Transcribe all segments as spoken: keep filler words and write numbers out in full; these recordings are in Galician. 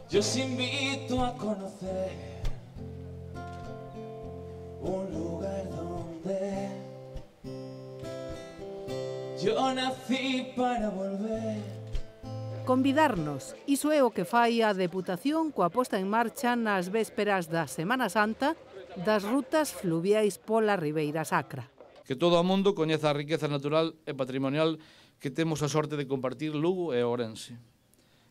Yo os invito a conocer un lugar donde yo nací para volver. Convidarnos, iso é o que fai a Deputación coa posta en marcha nas vésperas da Semana Santa das rutas fluviais pola Ribeira Sacra. Que todo o mundo coñeza a riqueza natural e patrimonial que temos a sorte de compartir Lugo e Ourense.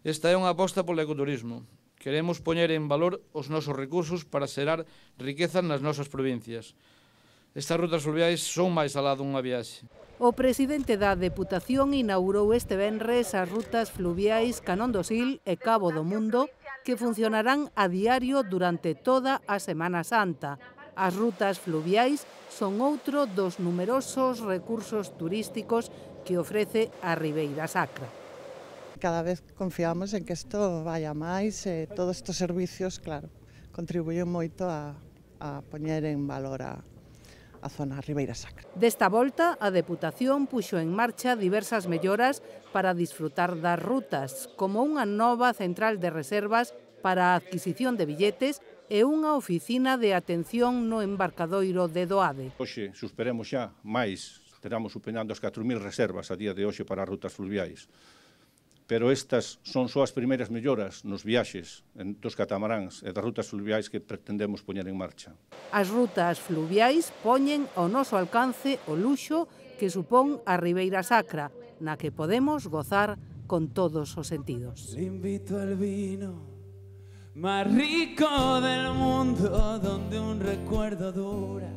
Esta é unha aposta polo ecoturismo. Queremos poñer en valor os nosos recursos para xerar riqueza nas nosas provincias. Estas rutas fluviais son máis alá dunha viaxe. O presidente da Deputación inaugurou este venres as rutas fluviais Canón do Sil e Cabo do Mundo, que funcionarán a diario durante toda a Semana Santa. As rutas fluviais son outro dos numerosos recursos turísticos que ofrece a Ribeira Sacra. Cada vez confiamos en que isto vaya máis e todos estes servicios, claro, contribuyen moito a, a poñer en valor a a zona Ribeira Sacra. Desta volta, a Deputación puxo en marcha diversas melloras para disfrutar das rutas, como unha nova central de reservas para a adquisición de billetes e unha oficina de atención no embarcadoiro de Doade. Hoxe superemos xa máis, teramos superando as catro mil reservas a día de hoxe para as rutas fluviais. Pero estas son só as primeiras melloras nos viaxes dos catamaráns e das rutas fluviais que pretendemos poñer en marcha. As rutas fluviais poñen ao noso alcance o luxo que supón a Ribeira Sacra, na que podemos gozar con todos os sentidos. Le invito al vino más rico del mundo, donde un recuerdo dura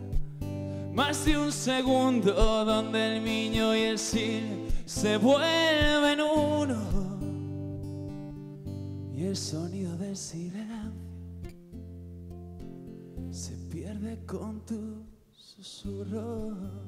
más de un segundo, donde el Miño y el Sil se vuelven uno y el sonido del silencio se pierde con tu susurro.